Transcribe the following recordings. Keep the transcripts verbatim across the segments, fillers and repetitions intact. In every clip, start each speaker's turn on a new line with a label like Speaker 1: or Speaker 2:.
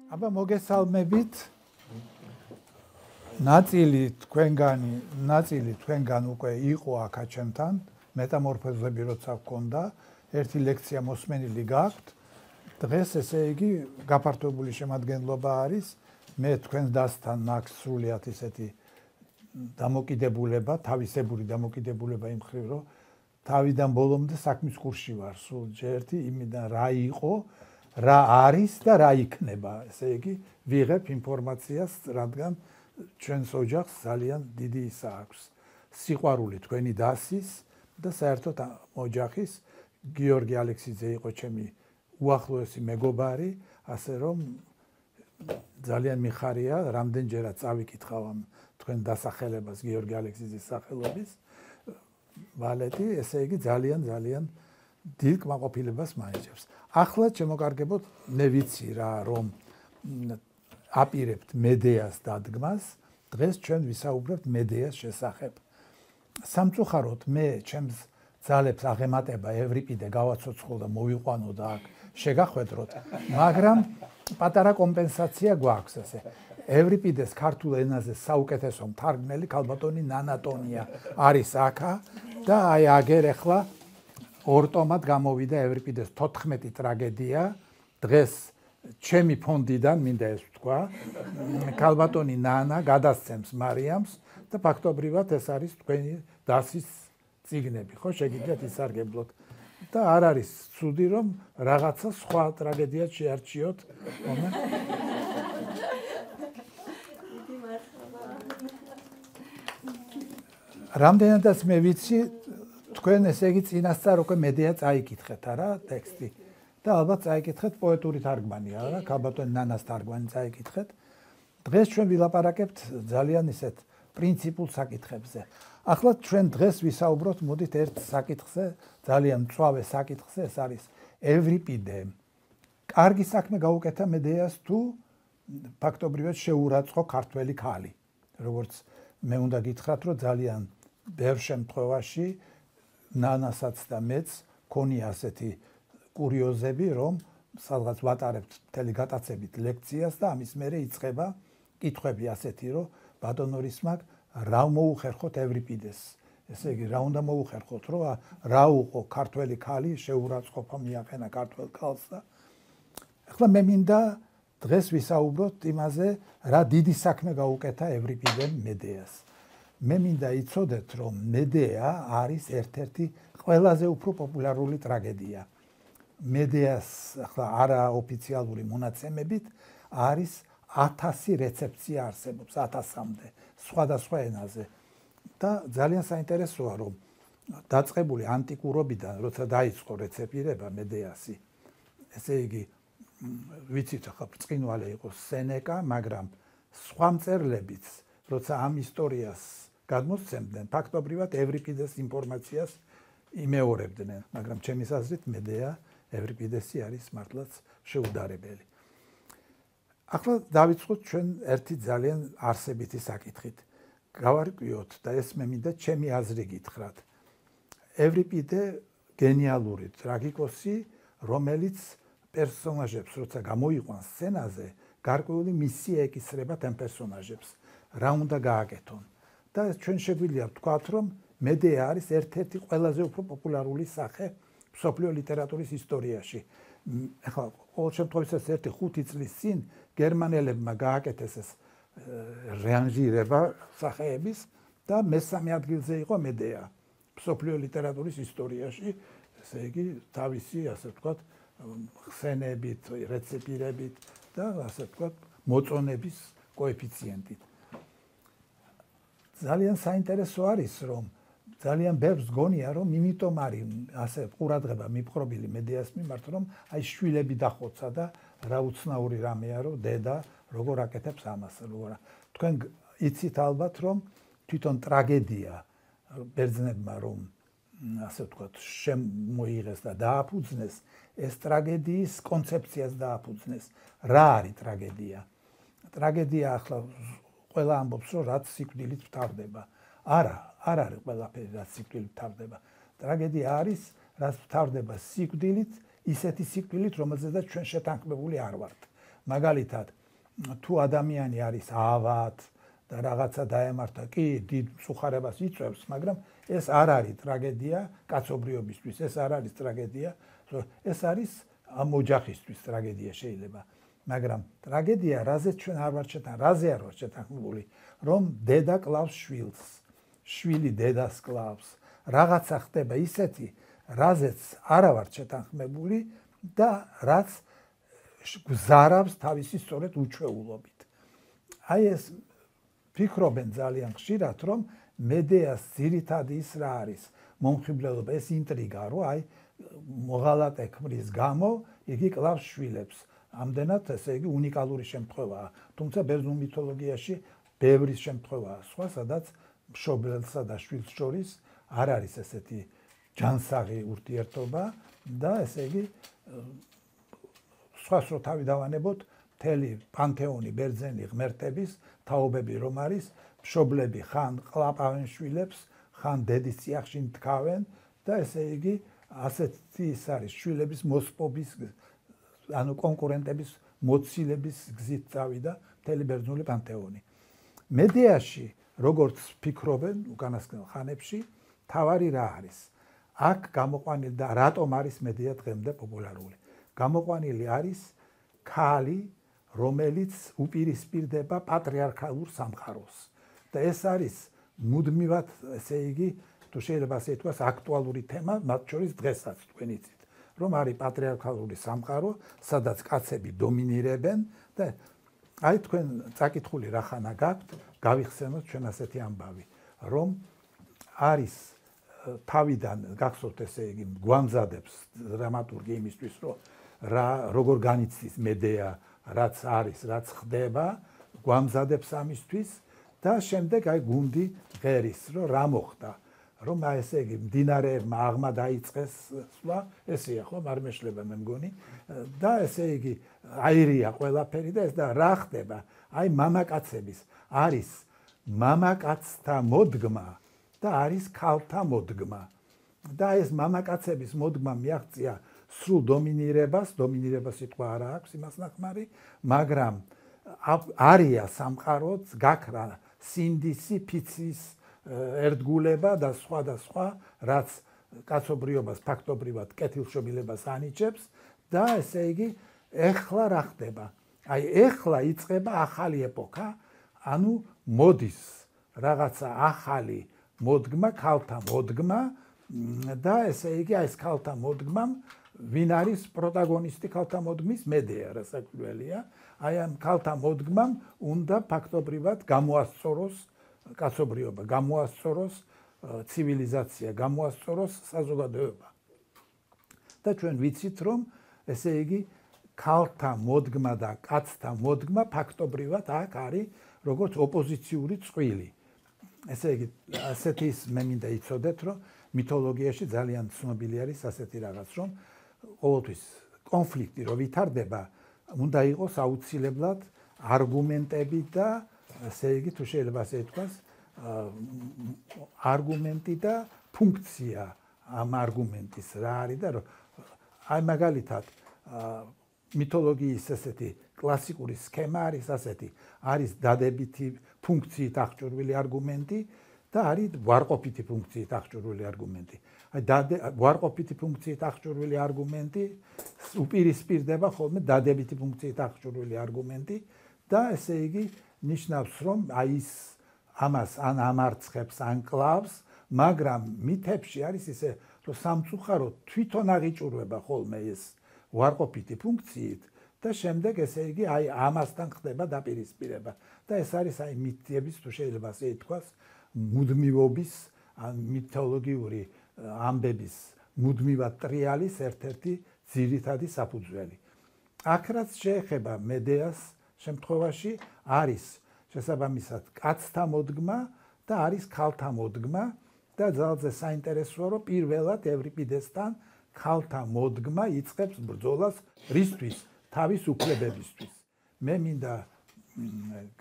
Speaker 1: აბა მოგესალმებით. ნაწილი თქვენგანი, ნაწილი თქვენგან უკვე იყო აქ ჩემთან, მეტამორფოზები როცა გქონდა, ერთი ლექცია მოსმენილი გაქვთ. დღეს ესე იგი გაფართოებული შემადგენლობა არის. მე თქვენს დასთან მაქვს სრულიად ისეთი დამოკიდებულება, თავისებური დამოკიდებულება იმ მხრივ, რომ თავიდან ბოლომდე საქმის კურსში ვარ, სულ ერთი იმიდან რა იყო, რა არის და რა იქნება. ესე იგი, ვიღებ ინფორმაციას, რადგან ჩვენს ოჯახს ძალიან დიდი ისა აქვს. სიყვარული თქვენი დასის და საერთოდ ოჯახის. გიორგი ალექსიძე იყო ჩემი უახლოესი მეგობარი, ასე რომ ძალიან მიხარია, რამდენჯერაც წავიკითხავ ამ თქვენ დასახელებას გიორგი ალექსიძის სახელობის ვალეტი, ესე იგი ძალიან ძალიან დიდ კმაყოფილებას მაიჭებს. ახლა შემოგარგებოთ, მე ვიცი რა, რომ აპირებთ მედეას დადგმას, დღეს ჩვენ ვისაუბრებთ მედეას შესახებ. სამწუხაროდ მე ჩემს ძალებს აღემატება ევრიპიდე გავაცოცხლო და მოვიყვანო და აქ შეგახვედროთ, მაგრამ პატარა კომპენსაცია გვაქვს ესე. ევრიპიდეს ქართულ ენაზე საუკეთესო მთარგმნელი ქალბატონი ნანატონია არის აქა და აი აგერ ახლა ორ ტომად გამოვიდა ევრიპიდეს თოთხმეტი ტრაგედია. დღეს ჩემი ფონდიდან მინდა ეს ვთქვა, ქალბატონი ნანა გადასცემს მარიამს და ფაქტობრივად ეს არის თქვენი დასის წიგნები, ხო, შეგიძლიათ ისარგებლოთ. და არ არის ცუდი, რომ რაღაცა სხვა ტრაგედიაც შეარჩიოთ. რამდენადაც მე ვიცი, თქვენ ესე იგი წინასწარ უკვე მედეა წაიკითხეთ, არა, ტექსტი. და ალბათ წაიკითხეთ პოეტური თარგმანია, არა, ქალბატონი ნანას თარგმანი წაიკითხეთ. დღეს ჩვენ ვილაპარაკებთ ძალიან ისეთ პრინციპულ საკითხებზე. ახლა ჩვენ დღეს ვისაუბროთ, მოდით ერთ საკითხზე, ძალიან მწვავე საკითხზე, ეს არის ევრიპიდე. კარგი საქმე გაუკეთა მედეას თუ ფაქტობრივად შეურაცხო ქართველი ქალი. როგორც მე უნდა გითხრათ, რომ ძალიან ბევრ შემთხვევაში ნანასაც და მეც ქონია ასეთი კურიოზები, რომ სადღაც ვატარებთ მთელი გატაცებით ლექციას და ამის მერე იწყება კითხვები ასეთი, რომ ბატონო რისმაკ რა მოუხერხოთ ევრიპიდეს. ესე იგი, რა უნდა მოუხერხოთ, რომ რა უყო ქართველი ქალი შეურაცხყოფა მიაყენა ქართველ ქალს და ახლა მე მინდა დღეს ვისაუბროთ იმაზე, რა დიდი საქმე გაუკეთა ევრიპიდემ მედეას. მე მინდა იცოდეთ, რომ მედეა არის ერთ-ერთი ყველაზე უფრო პოპულარული ტრაგედია. მედეას ახლა არაოფიციალური მონაცემებით არის ათასი რეცეფცია არსებობს, ათასამდე სხვადასხვა ენაზე. და ძალიან საინტერესოა, რომ დაწყებული ანტიკურობიდან, როცა დაიწყო რეცეპირება მედეასი, ესე იგი, ვიცით ახლა ბრწყინვალე იყო სენეკა, მაგრამ სხვა მწერლებიც, როცა ამ ისტორიას გადმოსცემდნენ, ფაქტობრივად ევრიპიდეს ინფორმაციას იმეორებდნენ, მაგრამ ჩემის აზრით მედეა ევრიპიდესი არის მართლაც შეუდარებელი. ახლა დავიწყოთ ჩვენ ერთი ძალიან არსებითი საკითხით. გავარკვიოთ და ეს მე მინდა ჩემი აზრი გითხრათ. ევრიპიდე გენიალური ტრაგიკოსი, რომელიც პერსონაჟებს როცა გამოიყვანს სცენაზე, გარკვეული მისია ეკისრებათ ამ პერსონაჟებს, რა უნდა გააკეთონ. და ჩვენ შეგვიძლია ვთქვათ, რომ მედეა არის ერთ-ერთი ყველაზე უფრო პოპულარული სახე მსოფლიო ლიტერატურის ისტორიაში. ახლა ყოველ შემთხვევაში ერთი ხუთი წლის წინ გერმანელებმა გააკეთეს ეს რეანჟირება სახეების და მესამე ადგილზე იყო მედეა მსოფლიო ლიტერატურის ისტორიაში, ესე იგი თავისი, ასე ვთქვათ, ხსენებით, რეცეპირებით და ასე ვთქვათ, მოწონების კოეფიციენტით. ძალიან საინტერესო არის, რომ ძალიან ბევრს გონია, რომ იმიტომ არის ასე ყურადღება მიპყრობილი მედეას მიმართ, რომ აი შვილები დახოცა და რა უცნაური რამეა, რომ დედა როგორ აკეთებს ამას, როგორ თქვენ იცით ალბათ, რომ თვითონ ტრაგედია ბერძნებმა რომ ასე ვთქვათ, შემოიღეს და დააფუძნეს, ეს ტრაგედიის კონცეფციას დააფუძნეს. რა არის ტრაგედია? ტრაგედია ახლა ყველა ამბობს, რომ რაც სიკვდილით მთავრდება. არა, არ არის ყველაფერი, რაც სიკვდილით მთავრდება. ტრაგედია არის, რაც მთავრდება სიკვდილით, ისეთი სიკვდილით, რომელზედაც ჩვენ შეთანხმებული არ ვართ. მაგალითად, თუ ადამიანი არის ავად და რაღაცა დაემართა, კი დიდ მსუხარებას იწვევს, მაგრამ ეს არ არის ტრაგედია კაცობრიობისთვის, ეს არ არის ტრაგედია, ეს არის ამ ოჯახისთვის ტრაგედია შეიძლება. მაგრამ ტრაგედია, რაზეც ჩვენ არ ვართ შეთანხმებული, რაზე არ ვართ შეთანხმებული, რომ დედა კლავს შვილს, შვილი დედას კლავს, რაღაცა ხდება ისეთი, რაზეც არ ვართ შეთანხმებული და რაც გზარავს თავისი სწორედ უჩვეულობით. აი ეს ფიქრობენ ძალიან ხშირად, რომ მედეას ძირითადი ის რა არის, მომხიბლელობა, ეს ინტრიგა, რომ აი მოღალატე ქმრის გამო იგი კლავს შვილებს. ამდენად ესე იგი უნიკალური შემთხვევაა. თუმცა ბერძნულ მითოლოგიაში ბევრი შემთხვევაა სხვა, სადაც მშობელსა და შვილს შორის არ არის ესეთი ჯანსაღი ურთიერთობა და ესე იგი სხვას რო თავი დავანებოთ, მთელი პანთეონი ბერძენი ღმერთების თაობები რომ არის, მშობლები ხან ყლაპავენ შვილებს, ხან დედის წიაღში მткаვენ და ესე იგი ასეთი ის არის შვილების მოსპობის ანუ კონკურენტების მოცილების გზით წავიდა მთელი ბერძნული პანთეონი. მედეაში, როგორც ფიქრობენ უკანასკნელ ხანებში, თავარი რა არის? აქ გამოყვანილი და რატომ არის მედეა დღემდე პოპულარული? გამოყვანილი არის ქალი, რომელიც უპირისპირდება პატრიარქალურ სამყაროს. და ეს არის მუდმივად, ესე იგი, თუ შეიძლება ასე ითქვას, აქტუალური თემა, მათ შორის დღესაც თქვენ იცით, რომ არის პატრიარქალური სამყარო, სადაც კაცები დომინირებენ და აი თქვენ წაკითხული რახანა გაქვთ, გავიხსენოთ ჩვენ ასეთი ამბავი, რომ არის თავიდან გახსოვთ ესე იგი გვამზადებს დრამატურგი იმისთვის, რომ რა როგორ განიცდის მედეა, რაც არის, რაც ხდება, გვამზადებს ამისთვის და შემდეგ აი გუნდი ღერის, რომ რა მოხდა, რომ აი ესე იგი მდინარეებმა აღმა დაიწყეს სვლა, ესეა ხო, არ მეშლება მე მგონი და ესე იგი აირია ყველაფერი და ეს და რა ხდება? აი მამაკაცების არის მამაკაცთა მოდგმა და არის ქალთა მოდგმა. და ეს მამაკაცების მოდგმა მიაღწია სრულ დომინირებას, დომინირება სიტყვა არ აქვს იმას ნახმარი, მაგრამ არია სამყაროც გაქრა სინდისი, ფიცის ერთგულება და სხვა და სხვა, რაც კაცობრიობას ფაქტობრივად კეთილშობილებას ანიჭებს და ესე იგი ეხლა რა ხდება? აი ეხლა იწყება ახალი ეპოქა, ანუ მოდის რაღაცა ახალი მოდგმა, ქალთა მოდგმა და ესე იგი ეს ქალთა მოდგმამ ვინ არის პროტაგონისტი ქალთა მოდგმის? მედეა, რასაკვირველია. აი ამ ქალთა მოდგმამ უნდა ფაქტობრივად გამოასწოროს კაცობრიობა, გამოასწოროს ცივილიზაცია, გამოასწოროს საზოგადოება. და ჩვენ ვიცით, რომ ესე იგი ქალთა მოდგმა და კაცთა მოდგმა ფაქტობრივად აქ არის როგორც ოპოზიციური წყვილი. ესე იგი ასეთი ის მე მინდა იცოდეთ, რომ მითოლოგიაში ძალიან ცნობილი არის ასეთი რაღაც, რომ ყოველთვის კონფლიქტი რო ვითარდება, უნდა იყოს აუცილებლად არგუმენტები და ესე იგი თუ შეიძლება ასე ითქვას, არგუმენტი და ფუნქცია ამ არგუმენტის რა არის და აი მაგალითად მითოლოგიის ესეთი კლასიკური სქემა არის ასეთი, არის დადებითი ფუნქციით აღჭურვილი არგუმენტი და არის ვარყოფითი ფუნქციით აღჭურვილი არგუმენტი. აი ვარყოფითი ფუნქციით აღჭურვილი არგუმენტი უპირისპირდება ხოლმე დადებითი ფუნქციით აღჭურვილი არგუმენტი და ესე იგი ნიშნავს, რომ აი ის ამას ან ამარცხებს, ან კლავს, მაგრამ მითებში არის ისე, რომ სამწუხაროდ თვითონ აღიჭურვება ხოლმე ეს ვარყოფითი ფუნქციით და შემდეგ ესე იგი აი ამასთან ხდება დაპირისპირება და ეს არის აი მითების თუ შეიძლება ასე ითქვას მუდმივობის ან მითოლოგიური ამბების მუდმივად ტრიალის ერთ-ერთი ძირითადი საფუძველი. აქ რაც შეეხება მედეას შემთხვევაში არის შესაბამისად კაცთა მოდგმა და არის ქალთა მოდგმა და ძალზე საინტერესოა, რომ პირველად ევრიპიდესთან ქალთა მოდგმა იწყებს ბრძოლას რისთვის? თავის უფლებებისთვის. მე მინდა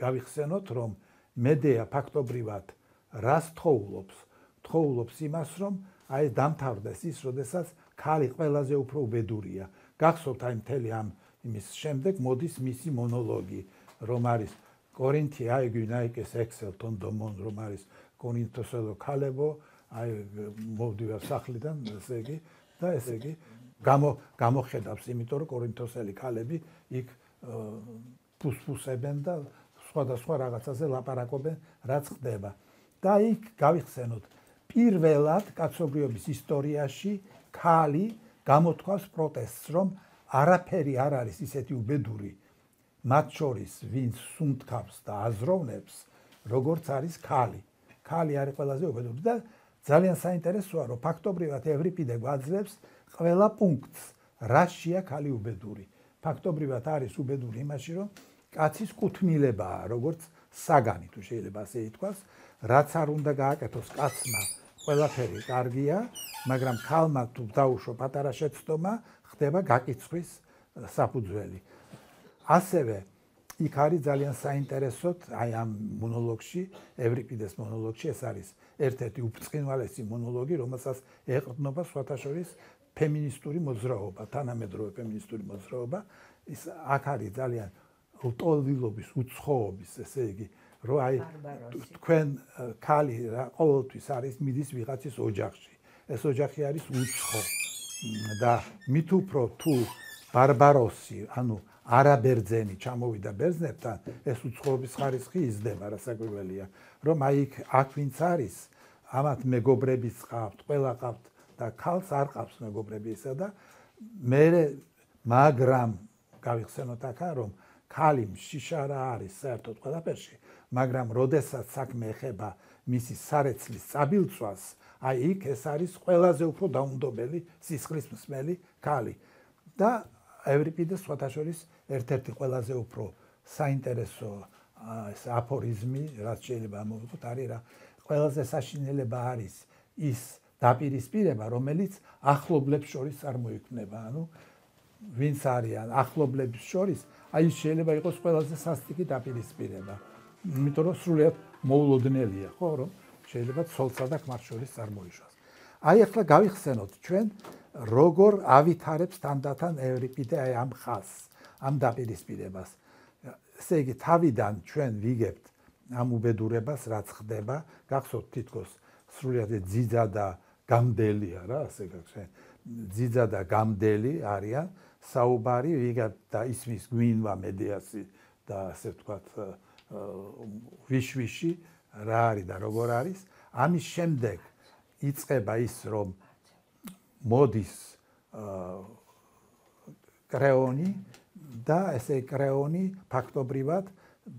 Speaker 1: გავიხსენოთ, რომ მედეა ფაქტობრივად რას თხოვლობს? თხოვლობს იმას, რომ აი დამთავრდეს ის, როდესაც ქალი ყველაზე უფრო უბედურია. გახსოვთ აი მთელი ამ იმის შემდეგ მოდის მისი მონოლოგი, რომ არის კორინთი აიგი ნაიკეს ექსელტონ დომონ რომ არის კორინთოსელო ქალებო აი მოვდივარ სახლიდან ესე იგი და ესე იგი გამო გამოხედავს იმიტომ რომ კორინთოსელი ქალები იქ ფუსფუსებენ და სხვადასხვა რაღაცაზე ლაპარაკობენ რაც ხდება და იქ გავიხსენოთ პირველად კაცობრიობის ისტორიაში ქალი გამოთქვას პროტესტს რომ არაფერი არ არის ისეთი უბედური მათ შორის ვინც სუნთქავს და აზროვნებს როგორც არის ქალი ქალი არის ყველაზე უბედური და ძალიან საინტერესოა რომ ფაქტობრივად ევრიპიდე გვაძლევს ყველა პუნქტს რაშია ქალი უბედური ფაქტობრივად არის უბედური იმაში რომ კაცის კუთვნილებაა როგორც საგანი თუ შეიძლება ასე ითქვას რაც არ უნდა გააკეთოს კაცმა ყველაფერი კარგია მაგრამ ქალმა თუ დაუშვა პატარა შეცდომა ხდება გაკიცხვის საფუძველი ასევე იქ არის ძალიან საინტერესოდ აი ამ მონოლოგში ევრიპიდეს მონოლოგში ეს არის ერთ-ერთი უბრწყინვალესი მონოლოგი რომელსაც ეყრდნობა სხვათა შორის ფემინისტური მოძრაობა თანამედროვე ფემინისტური მოძრაობა ის აქ არის ძალიან ლტოლვილობის უცხოობის ესე იგი რომ აი თქვენ ქალი რა ყოველთვის არის მიდის ვიღაცის ოჯახში ეს ოჯახი არის უცხო და მით უფრო თუ ბარბაროსი ანუ არაბერძენი ჩამოვიდა ბერძნებთან ეს უცხოობის ხარისხი იზრდება რასაკვირველია რომ აი აქ ვინც არის ამათ მეგობრებიც ყავთ ყველა ყავთ და ქალს არ ყავს მეგობრები ისა და მე მაგრამ გავიხსენოთ აქა რომ ქალი შიშარა არის საერთოდ ყველაფერში მაგრამ როდესაც საქმე ეხება მისი სარეცლის წაბილწვას აი იქ ეს არის ყველაზე უფრო დაუნდობელი სისხლის მსმელი ქალი და ევრიპიდეს სხვათა შორის ერთ-ერთი ყველაზე უფრო საინტერესო ეს აფორიზმი რაც შეიძლება მოვიღოთ არის რა ყველაზე საშინელება არის ის დაპირისპირება რომელიც ახლობლებს შორის წარმოიქმნება ანუ ვინც არიან ახლობლებს შორის აი შეიძლება იყოს ყველაზე სასტიკი დაპირისპირება იმიტომ რომ სრულიად მოულოდნელია ხო რომ შეიძლება ცოლსა და ქმარს შორის წარმოიშვას აი ახლა გავიხსენოთ ჩვენ როგორ ავითარებს თანდათან ევრიპიდე აი ამ ხაზს ამ დაპირისპირებას ესე იგი თავიდან ჩვენ ვიგებთ ამ უბედურებას რაც ხდება გახსოვთ თითქოს სრულიად ძიძა და გამდელია რა ასე გახსენ ძიძა და გამდელი არიან საუბარი ვიგებთ და ისმის გვინვა მედეასი და ასე ვთქვათ ვიშვიში რა არის და როგორ არის ამის შემდეგ იწყება ის რომ მოდის კრეონი და ესე კრეონი ფაქტობრივად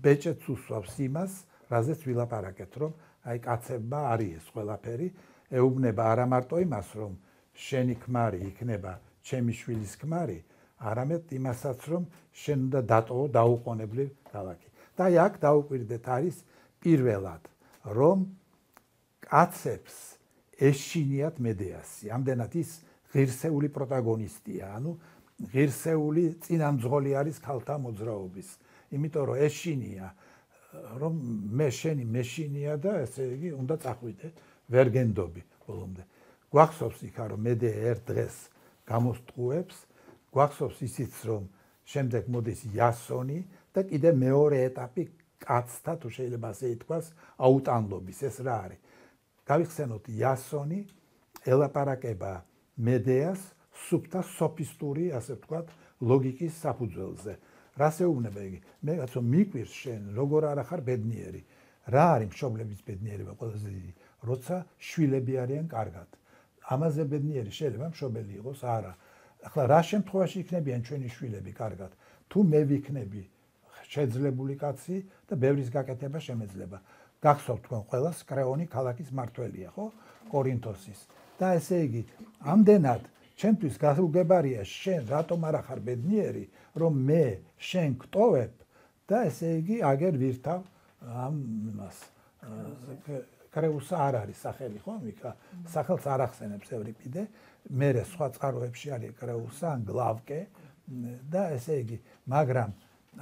Speaker 1: ბეჭედს უსვავს იმას რაზეც ვილაპარაკეთ რომ აი კაცებმა არის ეს ყველაფერი ეუბნება არა მარტო იმას რომ შენი ქმარი იქნება ჩემი შვილის ქმარი არამედ იმასაც რომ შენ უნდა დატოვო დაუყოვნებლივ ქალაქი და აი აქ დაუკვირდეთ არის პირველად რომ კაცებს ეშინიათ მედეასი ამდენად ის ღირსეული პროტაგონისტია ანუ ღირსეული წინამძღოლი არის ქალთა მოძრაობის იმიტომ რომ ეშინია რომ მე შენი მეშინია და ესე იგი უნდა წახვიდე ვერ გენდობი ბოლომდე გვახსოვს იქა რომ მედე ერთ დღეს გამოსტყუებს გვახსოვს ისიც რომ შემდეგ მოდის იასონი და კიდე მეორე ეტაპი კაცთა თუ შეიძლება ასე ითქვას აუტანლობის ეს რა არის გავიხსენოთ იასონი ელაპარაკება მედეას სუფთა სოფისტური ასე ვთქვათ ლოგიკის საფუძველზე რას ეუბნება იგი მე კაცო მიკვირს შენ როგორ არა ხარ ბედნიერი რა არის მშობლების ბედნიერება ყველაზე დიდი როცა შვილები არიან კარგად ამაზე ბედნიერი შეიძლება მშობელი იყოს არა ახლა რა შემთხვევაში იქნებიან ჩვენი შვილები კარგად თუ მე ვიქნები შეძლებული კაცი და ბევრის გაკეთება შემეძლება გახსოვთ თქვენ ყველას კრეონი ქალაქის მართველია ხო კორინთოსის და ესე იგი ამდენად ჩემთვის გასაგებარია შენ რატომ არ ახარ ბედნიერი რომ მე შენ გტოვებ და ესე იგი აგერ ვირთავ ამ იმას კრეუსა არ არის სახელი ხო მიქა სახელს არ ახსენებს ევრიპიდე მერე სხვა წყაროებში არის კრეუსა ან გლავკე და ესე იგი მაგრამ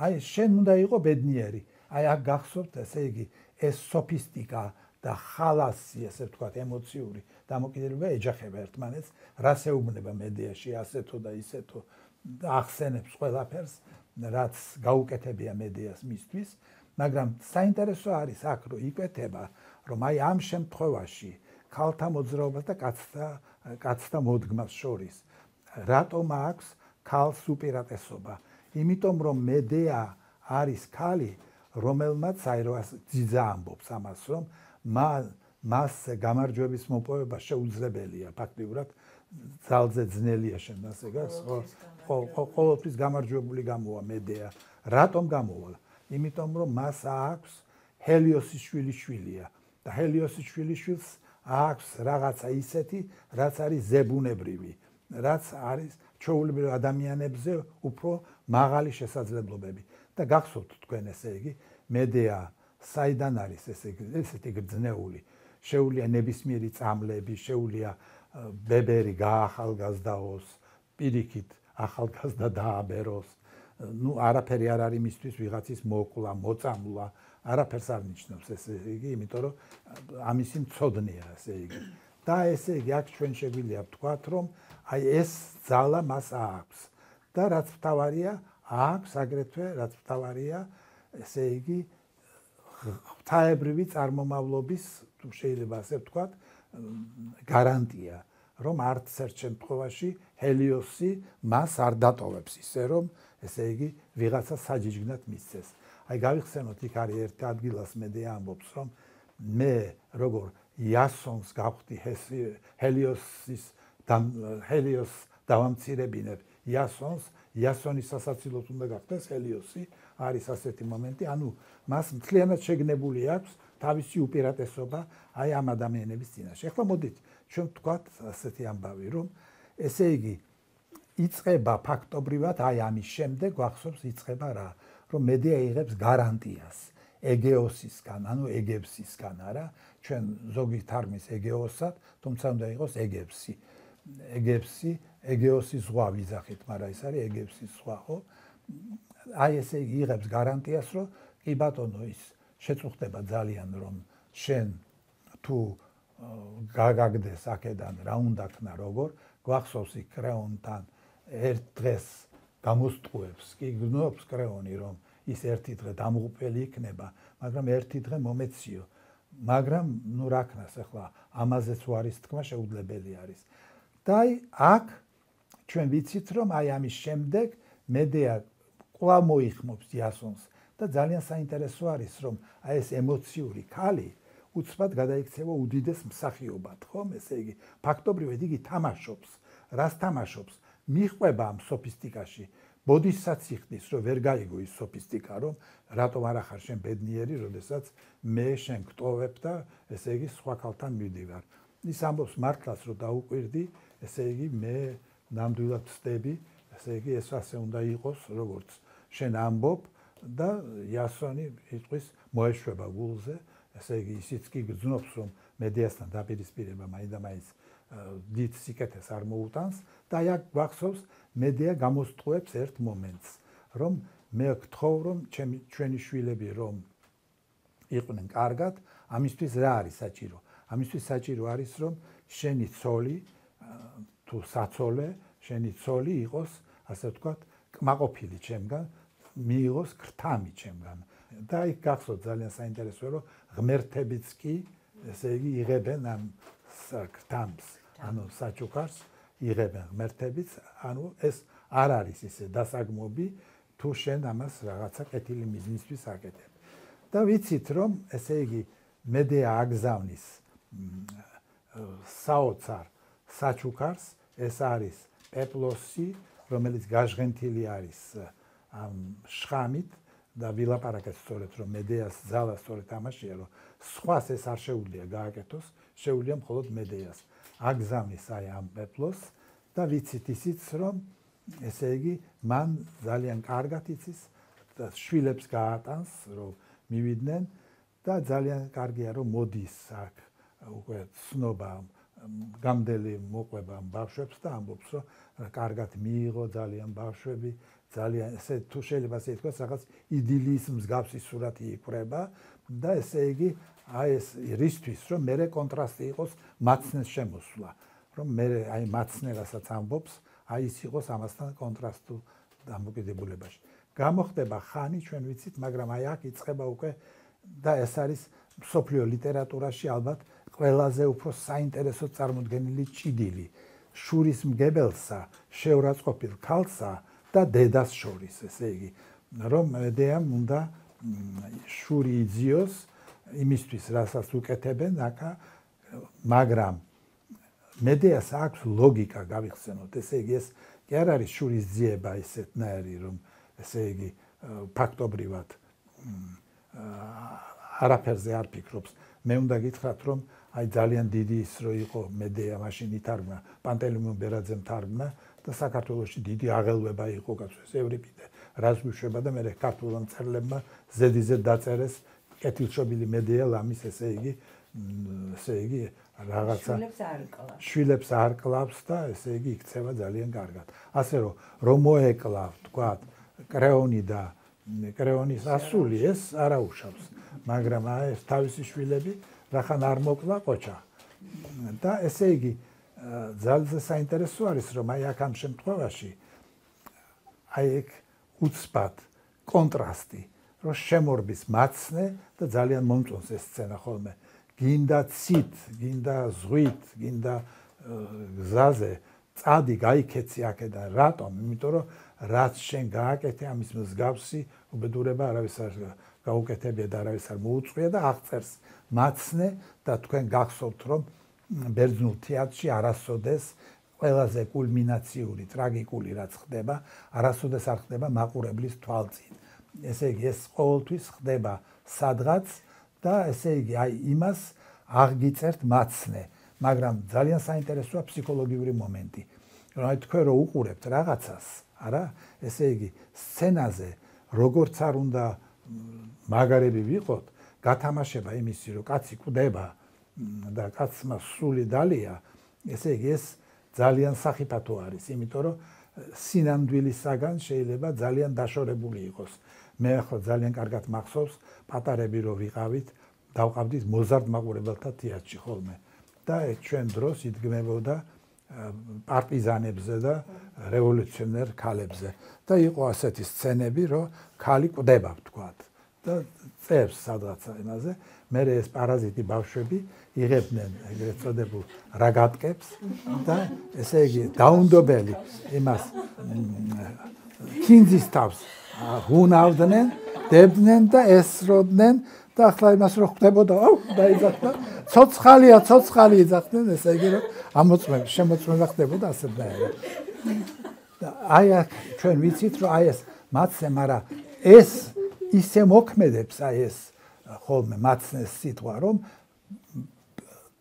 Speaker 1: აი შენ უნდა იყო ბედნიერი აი აქ გახსოვთ ესე იგი ეს სოფისტიკა და ხალასი ესე ვთქვათ ემოციური დამოკიდებულება ეჯახება ერთმანეთს რას ეუბნება მედიაში ასეთო და ისეთო და ახსენებს ყველაფერს რაც გაუკეთებია მედიას მისთვის, მაგრამ საინტერესო არის აქ რომ იკვეთება, რომ აი ამ შემთხვევაში ქალთა მოძრაობას და კაცთა კაცთა მოდგმას შორის რატომ აქვს ქალს უპირატესობა? იმიტომ რომ მედეა არის ქალი, რომელმაც აი რა ძიძა ამბობს ამას, რომ მას გამარჯვების მოპოვება შეუძლებელია, ფაქტიურად ძალზე ძნელია შენ ასე გას, ყოველთვის გამარჯვებული გამოვა მედეა. რატომ გამოვა? იმიტომ რომ მას აქვს ჰელიოსის შვილიშვილია და ჰელიოსის შვილიშვილს აქვს რაღაცა ისეთი, რაც არის ზებუნებრივი, რაც არის ჩვეულებრივ ადამიანებზე უფრო მაღალი შესაძლებლობები. და გახსოვთ თქვენ ესე იგი, მედეა საიდან არის ესე ესეთი გრძნეული? შეუძლია ნებისმიერი წამლები, შეუძლია ბებერი გაახალგაზრდაოს, პირიქით ახალგაზრდა დააბეროს. ნუ არაფერი არ არის მისთვის ვიღაცის მოკლა, მოწამლა, არაფერს არ ნიშნავს ესე იგი, იმიტომ რომ ამისი მცოდნეა ესე იგი. და ესე იგი აქ ჩვენ შეგვიძლია ვთქვათ, რომ აი ეს ძალა მას აქვს. და რაც მთავარია, აქვს აგრეთვე რაც მთავარია, ესე იგი ღვთაებრივი წარმომავლობის, თუ შეიძლება ასე ვთქვათ, გარანტია, რომ არც ერთ შემთხვევაში ჰელიოსი მას არ დატოვებს ისე, რომ ესე იგი ვიღაცა საჯიჯგნად მისცეს. აი გავიხსენოთ, იქ არის ერთ ადგილას მედეა ამბობს, რომ მე როგორ იასონს გავხდი ჰელიოსის ჰელიოს დავამცირებინებ იასონს, იასონის სასაცილოდ უნდა გახდეს ჰელიოსი, არის ასეთი მომენტი, ანუ მას მთლიანად შეგნებული აქვს თავისი უპირატესობა აი ამ ადამიანების წინაშე. ახლა მოდით ჩვენ ვთქვათ ასეთი ამბავი, რომ ესე იგი იწყება ფაქტობრივად აი ამის შემდეგ გვახსოვს იწყება რა, რომ მედეა იღებს გარანტიას ეგეოსისგან, ანუ ეგებსისგან, არა, ჩვენ ზოგი თარგმნის ეგეოსად, თუმცა უნდა იყოს ეგებსი. ეგებსი, ეგეოსის ზღვა ვიძახით, მაგრამ ეს არის ეგებსის ზღვა, ხო? აი ესე იგი იღებს გარანტიას, რომ კი ბატონო ის შეწუხდება ძალიან, რომ შენ თუ გაგაგდეს აქედან რა უნდა ქნა როგორ, გვახსოვს იქ კრეონთან ერთ დღეს გამოსტყუებს, კი გნობს კრეონი, რომ ის ერთი დღე დამღუპველი იქნება, მაგრამ ერთი დღე მომეციო. მაგრამ ნუ რა ქნას ახლა ამაზეც უარის თქმა შეუძლებელი არის. და აი აქ ჩვენ ვიცით, რომ აი ამის შემდეგ მედეა კვლავ მოიხმობს იასონს და ძალიან საინტერესო არის, რომ აი ეს ემოციური ქალი უცბად გადაიქცევა უდიდეს მსახიობად, ხომ? ესე იგი, ფაქტობრივად იგი თამაშობს. რას თამაშობს? მიხვება ამ სოფისტიკაში. ბოდისაც იხდის, რომ ვერ გაიგო ის სოფისტიკა, რომ რატომ არ ახარ შენ ბედნიერი, როდესაც მე შენ გტოვებ და ესე იგი სხვა ქალთან მივდივარ. ის ამბობს მართლაც, რომ დაუკვირდი, ესე იგი მე ნამდვილად ვწდები, ესე იგი ეს ასე უნდა იყოს, როგორც შენ ამბობ და იასონი იტყვის მოეშვება გულზე, ესე იგი ისიც კი გძნობს, რომ მედეასთან დაპირისპირება მაინდამაინც დიდ სიკეთეს არ მოუტანს და აი აქ გვახსოვს მედეა გამოსტყუებს ერთ მომენტს, რომ მე გთხოვ, რომ ჩვენი შვილები რომ იყვნენ კარგად, ამისთვის რა არის საჭირო? ამისთვის საჭირო არის, რომ შენი ცოლი თუ საცოლე, შენი ცოლი იყოს, ასე ვთქვათ, კმაყოფილი ჩემგან, მიიღოს ქრთამი ჩემგან. და იქ გახსოვთ ძალიან საინტერესოა, რომ ღმერთებიც კი, ესე იგი, იღებენ ამ ქრთამს, ანუ საჩუქარს იღებენ ღმერთებიც, ანუ ეს არ არის ისე დასაგმობი, თუ შენ ამას რაღაცა კეთილი მიზნისთვის აკეთებ. და ვიცით, რომ ესე იგი, მედეა აგზავნის საოცარ საჩუქარს, ეს არის პეპლოსი, რომელიც გაჟღენთილი არის ამ შხამით და ვილაპარაკეთ სწორედ, რომ მედეას ძალა სწორედ ამაშია, რომ სხვას ეს არ შეუძლია გააკეთოს, შეუძლია მხოლოდ მედეას. აგზავნის აი ამ პეპლოს და ვიცით ისიც, რომ ესე იგი, მან ძალიან კარგად იცის და შვილებს გაატანს, რომ მივიდნენ და ძალიან კარგია, რომ მოდის აქ უკვე ცნობა გამდელი მოყვება ბავშვებს და ამბობს, რომ კარგად მიიღო ძალიან ბავშვები, ძალიან ესე თუ შეიძლება ასე ითქვას, რაღაც იდილიის მსგავსი სურათი იქრება და ესე იგი, აი ეს რისთვის, რომ მერე კონტრასტი იყოს მაცნეს შემოსვლა, რომ მერე აი მაცნე რასაც ამბობს, აი ის იყოს ამასთან კონტრასტულ დამოკიდებულებაში. გამოხდება ხანი ჩვენ ვიცით, მაგრამ აი აქ იწყება უკვე და ეს არის მსოფლიო ლიტერატურაში ალბათ ყველაზე უფრო საინტერესო წარმოდგენილი ჭიდილი შურის მგებელსა, შეურაცხყოფილ ქალსა და დედას შორის, ესე იგი, რომ მედეამ უნდა შური იძიოს იმისთვის, რასაც უკეთებენ აქა, მაგრამ მედეას აქვს ლოგიკა, გავიხსენოთ, ესე იგი, ეს კი არ არის შურის ძიება ისეთნაირი, რომ ესე იგი, ფაქტობრივად არაფერზე არ ფიქრობს. მე უნდა გითხრათ, რომ აი ძალიან დიდი ის რო იყო მედეა მაშინ ითარგმნა, პანტელეიმონ ბერაძემ თარგმნა და საქართველოში დიდი აღელვება იყო კაცოს ევრიპიდე რას გვიშვება და მე ქართულ მწერლებმა ზედიზედ დაწერეს კეთილშობილი მედეა ლამის ესე იგი ესე იგი რაღაცა შვილებს არ კლავს და ესე იგი იქცევა ძალიან კარგად. ასე რომ რომ მოეკლავ თქვა კრეონი და კრეონის ასული ეს არაუშავს, მაგრამ ეს თავისი შვილები რახან არ მოკლა ყოჩა. და ესე იგი ძალზე საინტერესო არის რომ აი აქ ამ შემთხვევაში აი ეგ უცბად კონტრასტი რომ შემორბის მაცნე და ძალიან მომწონს ეს სცენა ხოლმე. გინდა ცით, გინდა ზღვით, გინდა გზაზე წადი გაიქეცი აქედან. რატომ? იმიტომ რომ რაც შენ გააკეთე ამის მსგავსი უბედურება არავის არ გაუკეთებია და არავის არ მოუწყვია და აღწერს მაცნე და თქვენ გახსოვთ რომ ბერძნულ თეატრში არასოდეს ყველაზე კულმინაციური ტრაგიკული რაც ხდება, არასოდეს არ ხდება მაყურებლის თვალწინ. ესე იგი ეს ყოველთვის ხდება სადღაც და ესე იგი აი იმას აღგიწერთ მაცნე, მაგრამ ძალიან საინტერესოა ფსიქოლოგიური მომენტი. რომ აი თქვენ რო უყურებთ რაღაცას, არა? ესე იგი სცენაზე როგორც არ უნდა მაგარები ვიყოთ, გათამაშება იმისი რომ კაცი კვდება და კაცმა სული დალია, ესე იგი ეს ძალიან სახიფათო არის, იმიტომ რომ სინამდვილისაგან შეიძლება ძალიან დაშორებული იყოს. მე ახლა ძალიან კარგად მახსოვს პატარები რო ვიყავით, დავყავდით მოზარდ მაყურებელთა თეატრში ხოლმე და ჩვენ დროს იდგმებოდა პარტიზანებზე და რევოლუციონერ ქალებზე და იყო ასეთი სცენები, რომ ქალი კვდება ვთქვათ და წევს სადღაცა იმაზე, მე ეს პარაზიტი ბავშვები იღებდნენ ეგრეთ წოდებულ რაგატკებს და ესე იგი დაუნდობელი იმას ქინძის თავს ღუნავდნენ, დებდნენ და ესროდნენ და ახლა იმას რო ხდებოდა, აუ დაიძახდა, ცოცხალია, ცოცხალი იძახდნენ, ესე იგი რომ ამოწმება, შემოწმება ხდებოდა ასეთნაირად. და აი აქ ჩვენ ვიცით რომ აი ეს მაცნე, მაგრამ ეს ისე მოქმედებს აი ეს ხოლმე მაცნეს სიტყვა, რომ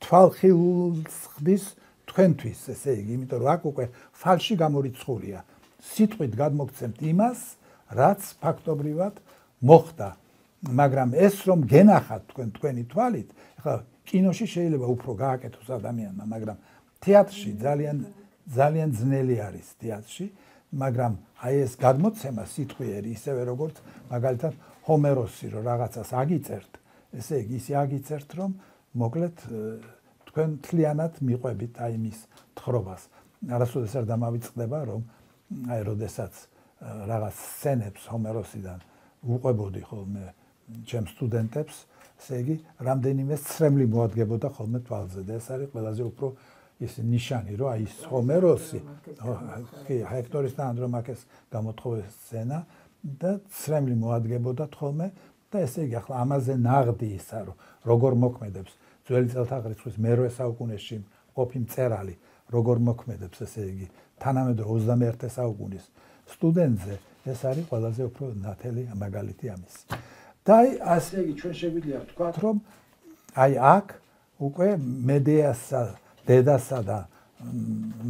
Speaker 1: თვალხილულს ხდის თქვენთვის, ესე იგი, იმიტომ რომ აქ უკვე ფალში გამორიცხულია. სიტყვით გადმოგცემთ იმას, რაც ფაქტობრივად მოხდა. მაგრამ ეს რომ გენახათ თქვენ თქვენი თვალით, ახლა კინოში შეიძლება უფრო გააკეთოს ადამიანმა, მაგრამ თეატრში ძალიან ძალიან ძნელი არის თეატრში, მაგრამ აი ეს გადმოცემა სიტყვიერი ისევე როგორც მაგალითად ჰომეროსი რომ რაღაცას აგიწერთ, ესე იგი ისე აგიწერთ რომ მოკლედ თქვენ თლიანად მიყვებით აი მის თხრობას. არასოდეს არ დამავიწყდება რომ აი როდესაც რაღაც სცენებს ჰომეროსიდან უყვებოდი ხოლმე ჩემ სტუდენტებს, ესე იგი რამდენიმე სცრემლი მოადგებოდა ხოლმე თვალზე და ეს არის ყველაზე უფრო ის ნიშანი, რომ აი ეს ჰომეროსი, კი, ჰექტორის და ანდრომაქეს გამოთხოვეს სცენა და სცრემლი მოადგებოდა ხოლმე და ესე იგი ახლა ამაზე ნაღდი ისა, რომ როგორ მოქმედებს ძველი წელთაღრიცხვის მერვე საუკუნეში ყოფი მწერალი, როგორ მოქმედებს, ესე იგი თანამედროვე ოცდამეერთე საუკუნის სტუდენტზე, ეს არის ყველაზე უფრო ნათელი მაგალითი ამის. და აი ასე იგი ჩვენ შეგვიძლია ვთქვათ, რომ აი აქ უკვე მედეასა, დედასა და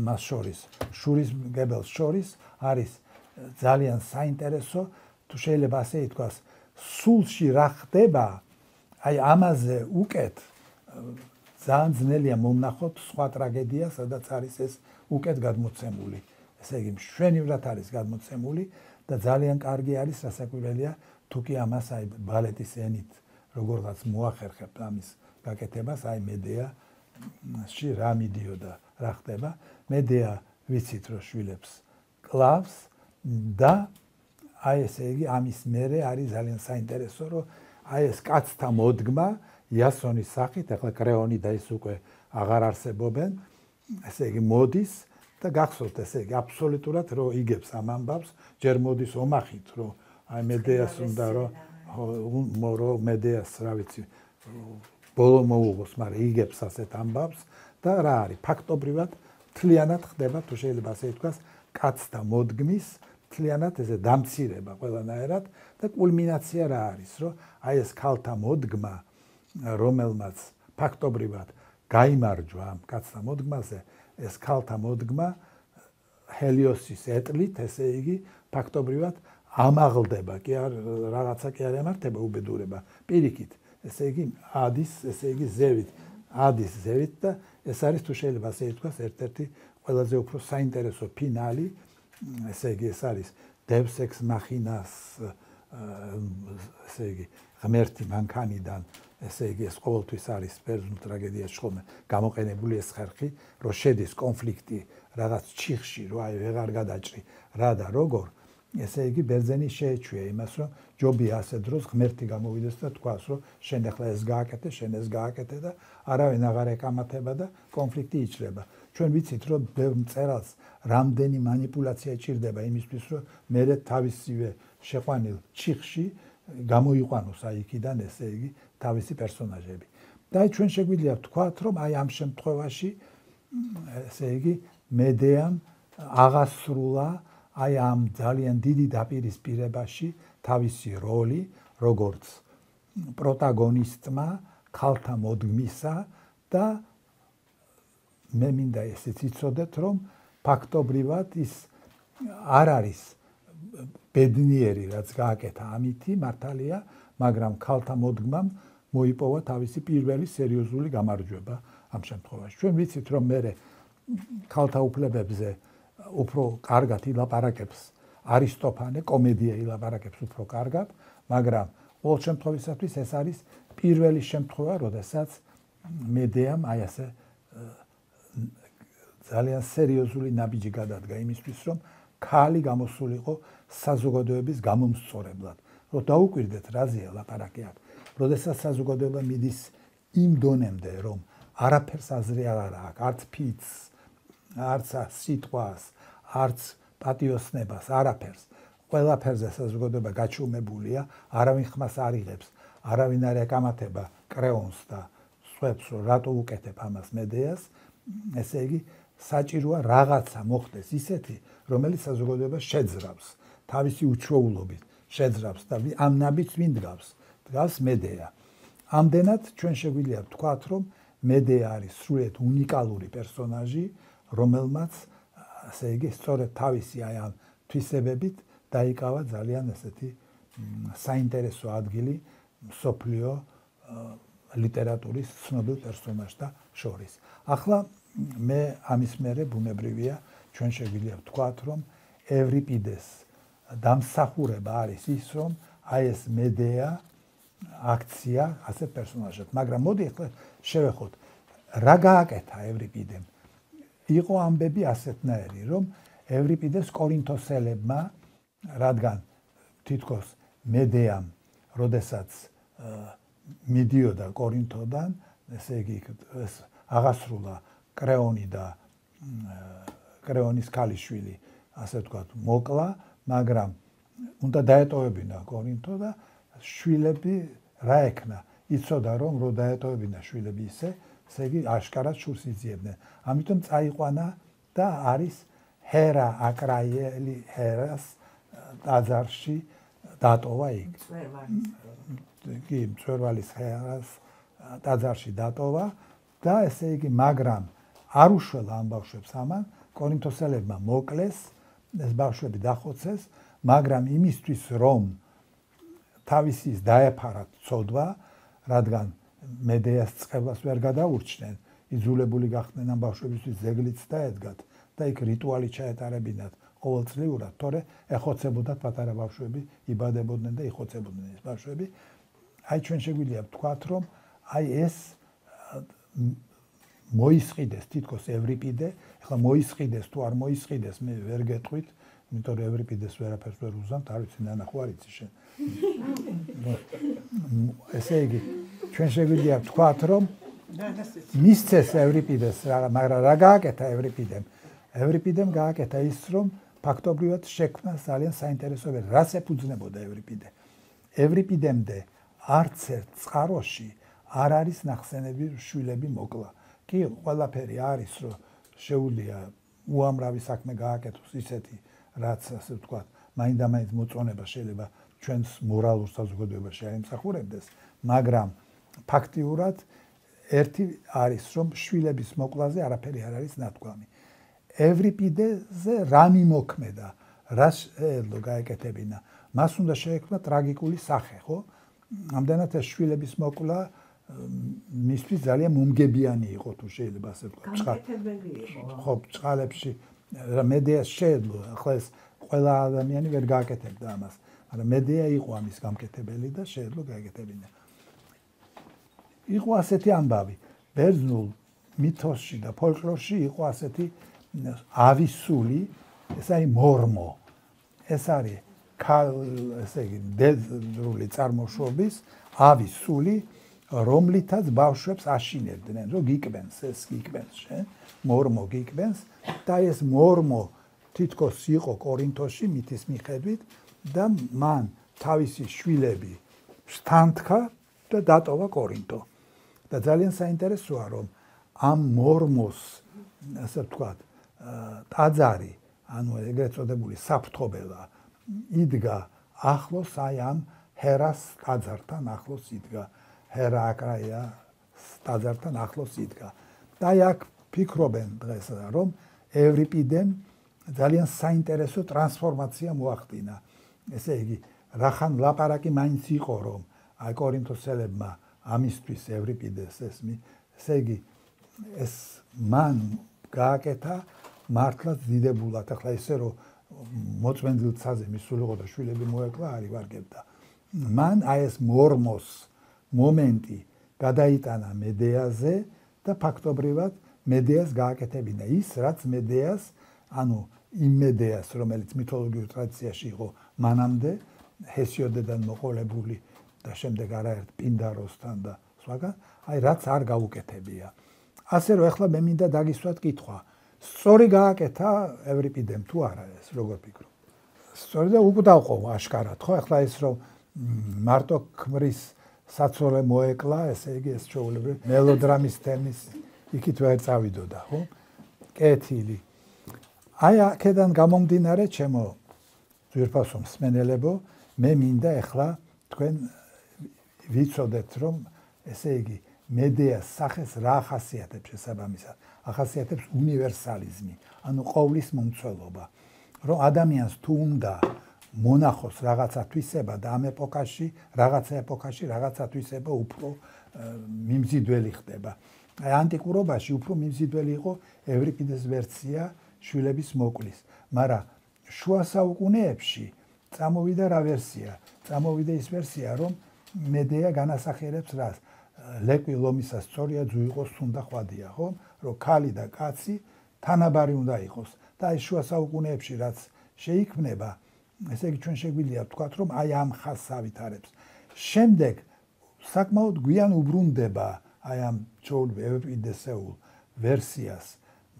Speaker 1: მას შორის, შურის მგებელს შორის არის ძალიან საინტერესო, თუ შეიძლება ასე ითქვას, სულში რა ხდება, აი ამაზე უკეთ ძალიან ძნელია მომნახოთ სხვა ტრაგედია, სადაც არის ეს უკეთ გადმოცემული. ესე იგი მშვენივრად არის გადმოცემული და ძალიან კარგი არის სასაკვირველია თუ კი ამას აი ბალეტის ენით როგორღაც მოახერხებთ ამის გაკეთებას, აი მედეაში რა მიდიოდა, რა ხდება. მედეა ვიცით რომ შვილებს კლავს და აი ესე იგი ამის მერე არის ძალიან საინტერესო, რომ აი ეს კაცთა მოდგმა იასონის სახით, ახლა კრეონი და ის უკვე აღარ არსებობენ, ესე იგი მოდის და გახსოვთ ესე იგი აბსოლუტურად რომ იგებს ამ ამბავს, ჯერ მოდის ომახით, რომ აი მედეას უნდა რომ რომ მედეას რა ვიცი ბოლო მოუღოს, მაგრამ იგებს ასეთ ამბავს და რა არის ფაქტობრივად მთლიანად ხდება თუ შეიძლება ასე ითქვას კაცთა მოდგმის მთლიანად ესე დამცირება ყველანაირად და კულმინაცია რა არის, რომ აი ეს ქალთა მოდგმა, რომელმაც ფაქტობრივად გაიმარჯვა ამ კაცთა მოდგმაზე, ეს ქალთა მოდგმა ჰელიოსის ეტლით, ესე იგი ფაქტობრივად ამაღლდება, კი არ რაღაცა კი არ ემართება უბედურება. პირიქით, ესე იგი ადის, ესე იგი ზევით, ადის ზევით და ეს არის თუ შეიძლება ასე ითქვას, ერთ-ერთი ყველაზე უფრო საინტერესო ფინალი, ესე იგი ეს არის Deus ex machina-ს, ესე იგი ღმერთი მანქანიდან, ესე იგი ეს ყოველთვის არის ბერძნულ ტრაგედიაში ხოლმე გამოყენებული ეს ხერხი, რომ შედის კონფლიქტი რაღაც ჩიხში, რომ აი ვეღარ გადაჭრი რა და როგორ, ესე იგი ბერძენი შეეჩვია იმას, რომ ჯობია ასე დროს ღმერთი გამოვიდეს და თქვას, რომ შენ ახლა ეს გააკეთე, შენ ეს გააკეთე და არავინ აღარ ეკამათება და კონფლიქტი იჭრება. ჩვენ ვიცით, რომ ბევრ მწერალს რამდენი манипуляცია ჭირდება იმისთვის, რომ მერე თავისივე შეყვანილ ჩიხში გამოიყვანოს აი იქიდან, ესე იგი თავისი პერსონაჟები. და აი ჩვენ შეგვიძლია ვთქვათ, რომ აი ამ შემთხვევაში, ესე იგი მედეამ აღასრულა აი ამ ძალიან დიდი დაპირისპირებაში თავისი როლი, როგორც პროტაგონისტმა ქალთა მოდგმისა და მე მინდა ესეც იცოდეთ, რომ ფაქტობრივად ის არ არის ბედნიერი, რაც გააკეთა ამითი, მართალია, მაგრამ ქალთა მოდგმამ მოიპოვა თავისი პირველი სერიოზული გამარჯვება ამ შემთხვევაში. ჩვენ ვიცით, რომ მე ქალთა უფლებებზე უფრო კარგად ილაპარაკებს არისტოფანე, კომედია ილაპარაკებს უფრო კარგად, მაგრამ ყოველ შემთხვევისათვის ეს არის პირველი შემთხვევა, როდესაც მედეამ აი ასე ძალიან სერიოზული ნაბიჯი გადადგა იმისთვის, რომ ქალი გამოსულიყო საზოგადოების გამომსწორებლად. რომ დაუკვირდეთ, რაზეა ლაპარაკი აქ. როდესაც საზოგადოება მიდის იმ დონემდე, რომ არაფერს აზრი აღარ აქვს, არც ფიცს, არც სიტყვას, არც პატიოსნებას, არაფერს. ყველაფერზე საზოგადოება გაჩუმებულია, არავინ ხმას არ იღებს, არავინ არ ეკამათება კრეონს და სხვებს, რომ რატო უკეთებ ამას მედეას, ესე იგი საჭიროა რაღაცა მოხდეს ისეთი, რომელიც საზოგადოებას შეძრავს, თავისი უჩვეულობით შეძრავს და ამ ნაბიჯს ვინ დგავს? დგავს მედეა. ამდენად ჩვენ შეგვიძლია ვთქვათ, რომ მედეა არის სრულიად უნიკალური პერსონაჟი, რომელმაც ასე იგი სწორედ თავისი აი ამ თვისებებით დაიკავა ძალიან ესეთი საინტერესო ადგილი მსოფლიო ლიტერატურის ცნობილ პერსონაჟთა შორის. ახლა მე ამის მერე ბუნებრივია ჩვენ შეგვიძლია ვთქვათ, რომ ევრიპიდეს დამსახურება არის ის, რომ აი ეს მედეა აქცია ასეთ პერსონაჟად. მაგრამ მოდი ახლა შევეხოთ, რა გააკეთა ევრიპიდემ? იყო ამბები ასეთნაირი, რომ ევრიპიდეს კორინთოსელებმა, რადგან თითქოს მედეამ, როდესაც მიდიოდა კორინთოდან, ესე იგი ეს აღასრულა კრეონი და კრეონის ქალიშვილი, ასე ვთქვათ, მოკლა, მაგრამ უნდა დაეტოვებინა კორინთო და შვილები რა ექნა? იცოდა რომ რო დაეტოვებინა შვილები ისე, ესე იგი აშკარად შურს იძიებდნენ. ამიტომ წაიყვანა და არის ჰერა აკრაიელი ჰერას ტაძარში დატოვა იქ. კი, მწვერვალის ჰერას ტაძარში დატოვა და ესე იგი მაგრამ არ უშველა ამ ბავშვებს ამან, კორინთოსელებმა მოკლეს, ეს ბავშვები დახოცეს, მაგრამ იმისთვის რომ თავისის დაეფარათ ცოდვა, რადგან მედეას წყევლას ვერ გადაურჩნენ, იძულებული გახდნენ ამ ბავშვებისთვის ზეგლიც დაედგათ და იქ რიტუალი ჩაეტარებინათ ყოველწლიურად, თორე ეხოცებოდათ პატარა ბავშვები, იბადებოდნენ და იხოცებოდნენ ეს ბავშვები. აი ჩვენ შეგვიძლია ვთქვათ, რომ აი ეს მოისყიდეს თითქოს ევრიპიდე, ახლა მოისყიდეს თუ არ მოისყიდეს, მე ვერ გეტყვით, იმიტომ რომ ევრიპიდეს ვერაფერს ვერ უზამთ, არ ვიცი ნანახო არ იცი შენ. ესე იგი, ჩვენ შეგვიძლია ვთქვათ, რომ მისცეს ევრიპიდეს, მაგრამ რა გააკეთა ევრიპიდემ? ევრიპიდემ გააკეთა ის, რომ ფაქტობრივად შექმნა ძალიან საინტერესო ვერსია. რას ეფუძნებოდა ევრიპიდე? ევრიპიდემდე არც ერთ წყაროში არ არის ნახსენები შვილები მოკლა. კი, ყველაფერი არის, რომ შეუძლია უამრავი საქმე გააკეთოს ისეთი, რაც ასე ვთქვათ, მაინდა-მაინც მოწონება შეიძლება ჩვენს მორალურ საზოგადოებაში არ იმსახურებდეს, მაგრამ ფაქტიურად ერთი არის, რომ შვილების მოკლაზე არაფერი არ არის ნათქვამი. ევრიპიდეზე რა მიმოქმედა, რა შეეძლო გაეკეთებინა, მას უნდა შეექმნა ტრაგიკული სახე, ხო? ამდენად ეს შვილების მოკლა მისთვის ძალიან მომგებიანი იყო, თუ შეიძლება ასე ვთქვათ.
Speaker 2: გამკეთებელი იყო.
Speaker 1: ხო, წყალებში მედეას შეეძლო, ახლა ეს ყველა ადამიანი ვერ გააკეთებდა ამას, მაგრამ მედეა იყო ამის გამკეთებელი და შეეძლო გაეკეთებინა. იყო ასეთი ამბავი, ბერძნულ მითოსში და ფოლკლორში იყო ასეთი ავის სული, ეს არის მორმო. ეს არის ესე იგი დედრული წარმოშობის ავის სული, რომლითაც ბავშვებს აშინებდნენ, რომ გიკბენს, ეს გიკბენს შენ, მორმო გიკბენს და ეს მორმო თითქოს იყო კორინთოში მითის მიხედვით და მან თავისი შვილები შთანთქა და დატოვა კორინთო. და ძალიან საინტერესოა, რომ ამ მორმოს, ასე ვთქვათ, ტაძარი, ანუ ეგრეთ წოდებული საფრთხობელა იდგა ახლოს აი ამ ჰერას ტაძართან ახლოს იდგა. ჰერა აკრაია ტაძართან ახლოს იდგა. და აი აქ ფიქრობენ დღეს, რომ ევრიპიდემ ძალიან საინტერესო ტრანსფორმაცია მოახდინა. ესე იგი, რახან ლაპარაკი მაინც იყო, რომ აი კორინთოსელებმა ამისთვის ევრიპიდეს ეს, ესე იგი, ეს მან გააკეთა მართლაც დიდებულად, ახლა ისე რომ მოწმენდილ ცაზე მისულიყო და შვილები მოეკლა, არ ივარგებდა. მან აი ეს მორმოს მომენტი გადაიტანა მედეაზე და ფაქტობრივად მედეას გააკეთებინა ის, რაც მედეას, ანუ იმ მედეას, რომელიც მითოლოგიურ ტრადიციაში იყო მანამდე, ჰესიოდედან მოყოლებული და შემდეგ არაერთ პინდაროსთან და სხვაგან, აი რაც არ გაუკეთებია. ასე რომ ახლა მე მინდა დაგისვათ კითხვა. სწორი გააკეთა ევრიპიდემ თუ არა ეს, როგორ ფიქრობ? სწორი და უკვდავყო აშკარად, ხო? ახლა ის რომ მარტო ქმრის საცოლე მოეკლა, ესე იგი ეს ჩვეულებრივ მელოდრამის თემის იქით ვერ წავიდოდა, ხო? კეთილი. აი აქედან გამომდინარე, ჩემო ძვირფასო მსმენელებო, მე მინდა ახლა თქვენ ვიცოდეთ, რომ ესე იგი მედეას სახეს რა ახასიათებს შესაბამისად? ახასიათებს უნივერსალიზმი, ანუ ყოვლის მომცველობა. რომ ადამიანს თუ უნდა მონახოს რაღაცა თვისება და ამ ეპოქაში, რაღაცა ეპოქაში, რაღაცა თვისება უფრო მიმზიდველი ხდება. აი ანტიკურობაში უფრო მიმზიდველი იყო ევრიპიდეს ვერსია შვილების მოკლის, მაგრამ შუა საუკუნეებში წამოვიდა რა ვერსია? წამოვიდა ის ვერსია, რომ მედეა განასახიერებს რას? ლეკვი ლომისა სწორია, ძუ იყოს თუნდა ხვადია, ხო? რომ ქალი და კაცი თანაბარი უნდა იყოს. და აი შუა საუკუნეებში რაც შეიქმნება, ესე იგი ჩვენ შეგვიძლია ვთქვათ, რომ აი ამ ხაზს ავითარებს. შემდეგ საკმაოდ გვიან უბრუნდება აი ამ ევრიპიდესეულ ვერსიას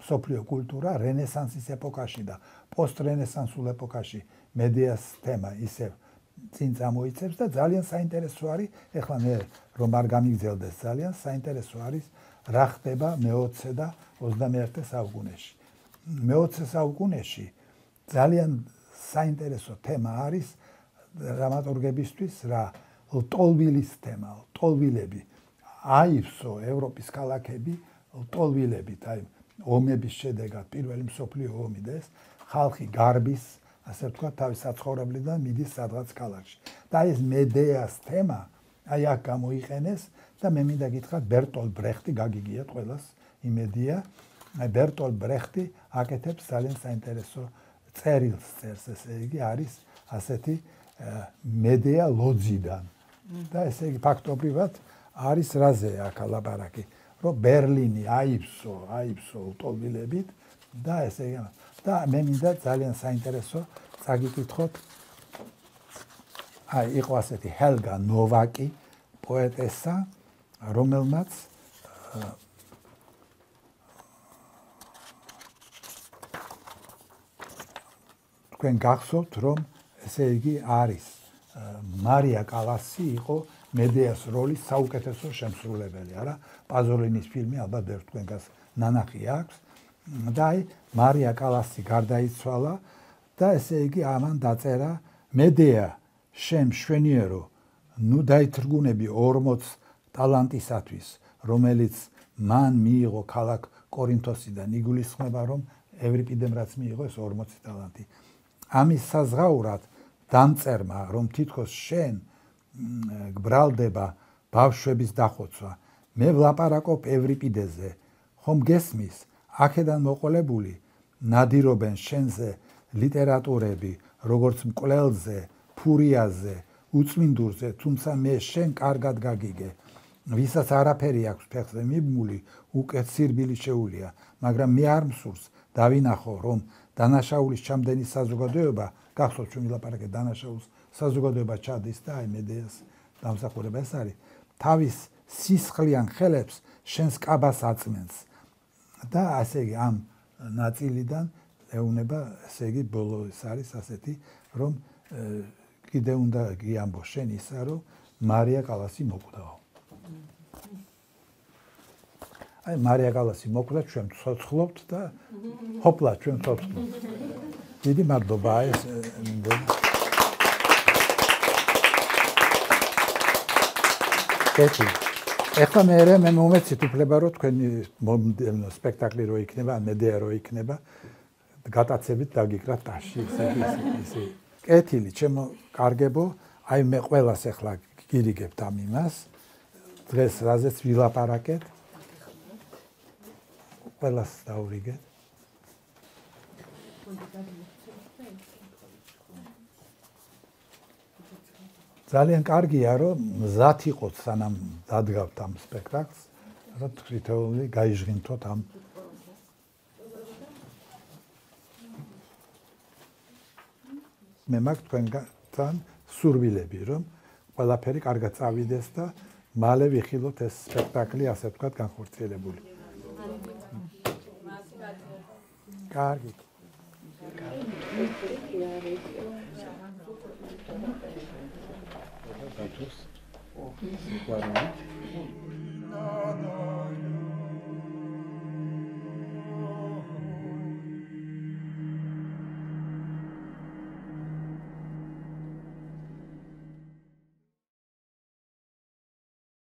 Speaker 1: მსოფლიო კულტურა რენესანსის ეპოქაში და პოსტრენესანსულ ეპოქაში მედეას თემა ისევ წინ წამოიცებს და ძალიან საინტერესო არის, ეხლა მე რომ არ გამიგზელდეს ძალიან საინტერესო არის რა ხდება მეოცე და ოცდამეერთე საუკუნეში. მეოცე საუკუნეში ძალიან საინტერესო თემა არის დრამატურგებისთვის რა ლტოლვილის თემა, ლტოლვილები. აივსო ევროპის ქალაქები ლტოლვილებით, აი ომების შედეგად პირველი მსოფლიო ომი და ეს ხალხი გარბის, ასე ვთქვათ, თავის საცხოვრებლიდან მიდის სადღაც ქალაქში. და ეს მედეას თემა აი აქ გამოიყენეს და მე მინდა გითხრათ ბერტოლ ბრეხტი გაგიგიათ ყველას იმედია. აი ბერტოლ ბრეხტი აკეთებს ძალიან საინტერესო წერილს წერს, ესე იგი არის ასეთი მედეა ლოძიდან. და ესე იგი ფაქტობრივად არის რაზე აქ ლაპარაკი, რომ ბერლინი აივსო, აივსო ლტოლვილებით და ესე იგი და მე მინდა ძალიან საინტერესო წაგიკითხოთ. აი, იყო ასეთი ჰელგა ნოვაკი, პოეტესა, რომელმაც თქვენ გახსოვთ, რომ ესე იგი არის მარია კალასი იყო მედეას როლის საუკეთესო შემსრულებელი, არა? პაზოლინის ფილმი ალბათ ბევრ თქვენგანს ნანახი აქვს. და აი, მარია კალასი გარდაიცვალა და ესე იგი ამან დაწერა მედეა შენ მშვენიერო, ნუ დაითრგუნები ორმოც ტალანტისათვის, რომელიც მან მიიღო ქალაქ კორინთოსიდან. იგულისხმება, რომ ევრიპიდემ რაც მიიღო ეს ორმოცი ტალანტი. ამის საზღაურად დამწერმა, რომ თითქოს შენ გბრალდება ბავშვების დახოცვა. მე ვლაპარაკობ ევრიპიდეზე, ხომ გესმის? აქედან მოყოლებული ნადირობენ შენზე ლიტერატურები, როგორც მკვლელზე, ფურიაზე, უწმინდურზე, თუმცა მე შენ კარგად გაგიგე. ვისაც არაფერი აქვს ფეხზე მიბმული, უკეთ სირბილი შეუულია, მაგრამ მე არ მსურს დავინახო, რომ დანაშაულის ჩამდენი საზოგადოება, გახსოვთ ჩვენ ვილაპარაკეთ დანაშაულის საზოგადოება ჩადის და აი მედეას დამსახურება ეს არის, თავის სისხლიან ხელებს შენს კაბას აწმენს. და ასე იგი ამ ნაწილიდან ეუნება, ესე იგი ბოლო ეს არის ასეთი, რომ კიდე უნდა გიამბო შენ ისა, რომ მარია კალასი მოკვდაო. აი მარია კალასი მოკვდა, ჩვენ ცოცხლობთ და ჰოპლა ჩვენ ცოცხლობთ. დიდი მადლობა ეს კეთილი. ეხლა მე მე მომეცით უფლება, რომ თქვენი სპექტაკლი რო იქნება, მედეა რო იქნება, გატაცებით დაგიკრათ ტაში, ესე ესე. კეთილი, ჩემო კარგებო, აი მე ყველას ეხლა გირიგებთ ამ იმას. დღეს რაზეც ვილაპარაკეთ. ყველას დაურიგეთ. ძალიან კარგია, რომ მზად იყოთ სანამ დადგავთ ამ სპექტაკლს, რა თვითონი გაიჟღინთოთ ამ მე მაგ თქვენგან სურვილები, რომ ყველაფერი კარგად წავიდეს და მალე ვიხილოთ ეს სპექტაკლი, ასე ვთქვათ, განხორციელებული. კარგი. Thank you.